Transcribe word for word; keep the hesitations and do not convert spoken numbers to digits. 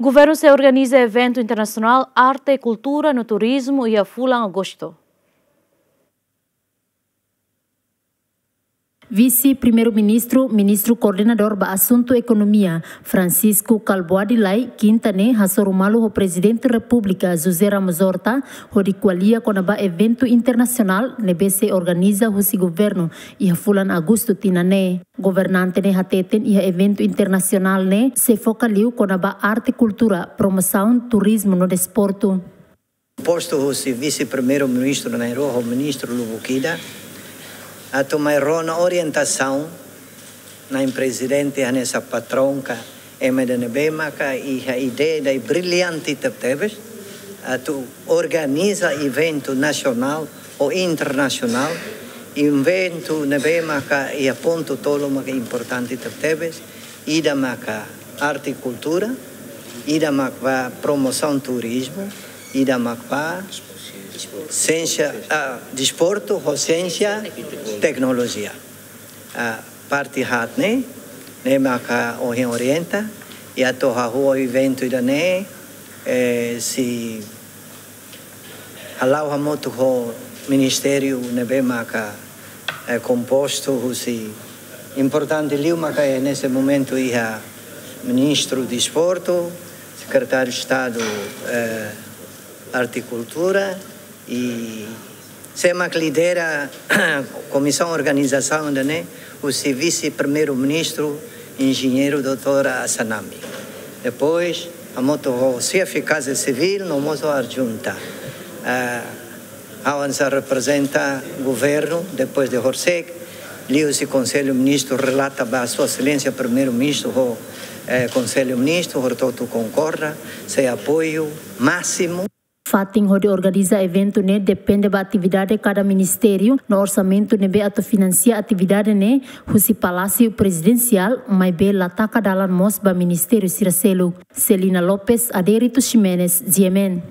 Governu sei organiza eventu internasionál arte, kultura no turizmu iha fulan agostu. Vise-Primeiru-Ministru, Ministru Koordenadór ba Asuntu Ekonomia, Francisco Kalbuadi Lay, kinta ne'e hasoru malu ho Prezidente Repúblika, José Ramos Horta, hodi ko'alia kona-ba eventu internasionál ne'ebé sei organiza husi governu iha fulan agostu tinan ne'e. Governante ne'e hateten iha eventu internasionál ne'e sei foka liu kona-ba arte, kultura, promosaun, turizmu no desportu. Postu husi Vise-Primeiru-Ministru na'in-rua ho Ministru lubuk ida atu mai rona orientasaun na'in Prezidente hanesan patraun ka ema ida ne'ebé maka iha ideia ida brillante tebetebes atu organiza eventu nasionál ou internasionál, eventu ne'ebé maka iha pontu tolu maka importante tebetebes, ida maka arte, kultura, ida maka promosaun turizmu, ida maka siénsia, ah, desportu ho siénsia, teknolojia. Ah, parte haat ne'e, ne'e maka ohin orienta, i atu hahú eventu ida-ne'e, eh, sei hala'o hamutuk ho ministériu ne'ebé maka, eh, kompostu husi, importante liu maka, eh, neste momentu iha Ministru Desportu, Sekretáriu Estadu, eh, Arte e Kultura, i sé mak lidera komisaun organizasaun ida-ne'e, husi Vise-Primeiru-Ministru, Enjeñeiru doutór Assanami. Depois, hamutuk ho xefe Kaza Sivíl, no mós ho adjunta. Ah, ha'u hanesan reprezenta governu, depois de horisehik, liuhusi Konsellu Ministru relata ba Sua Exelénsia Primeiru-Ministru ho, eh, Konsellu Ministru, hotu-hotu konkorda, sei apoiu másimu. Fatin hodi organiza eventu ne'e depende ba atividade kada ministériu, no orsamentu ne'ebé atu finansia atividade ne'e husi Palásiu Prezidensiál, maibé la taka dalan mós ba ministériu sira seluk. Celina Lopes, Adérito Ximenes, G M N.